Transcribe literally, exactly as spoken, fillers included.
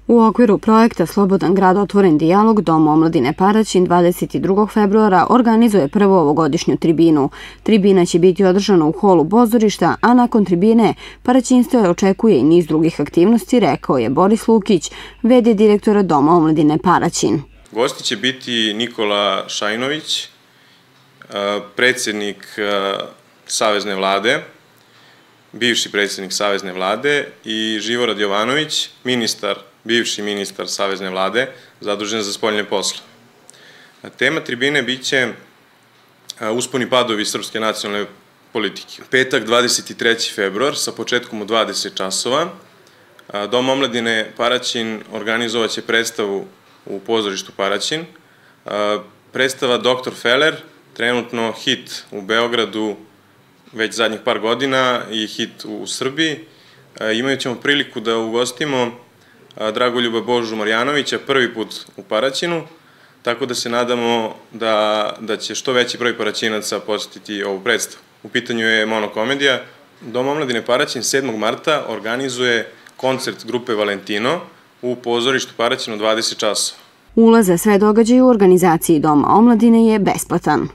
U okviru projekta Slobodan grad otvoren dijalog Dom omladine Paraćin dvadeset drugog februara organizuje prvu ovogodišnju tribinu. Tribina će biti održana u holu pozorišta, a nakon tribine paraćinstvo očekuje i niz drugih aktivnosti, rekao je Boris Lukić, v d direktora Doma omladine Paraćin. Gosti će biti Nikola Šajnović, predsjednik Savezne vlade, bivši predsjednik Savezne vlade, i Živorad Jovanović, ministar, bivši ministar Savezne vlade, zadužen za spoljne posle. Tema tribine biće usponi padovi srpske nacionalne politike. Petak, dvadeset treći februar, sa početkom u dvadeset časova, Dom omladine Paraćin organizovaće predstavu u pozorištu Paraćin. Predstava doktor Feller, trenutno hit u Beogradu već zadnjih par godina i hit u Srbiji. Imat ćemo priliku da ugostimo Dragoljuba Božu Marjanovića prvi put u Paraćinu, tako da se nadamo da će što veći broj Paraćinaca posetiti ovu predstavu. U pitanju je monokomedija. Dom omladine Paraćin sedmog marta organizuje koncert grupe Valentino u pozorištu Paraćin u dvadeset časova. Ulaz za sve događaje u organizaciji Doma omladine je besplatan.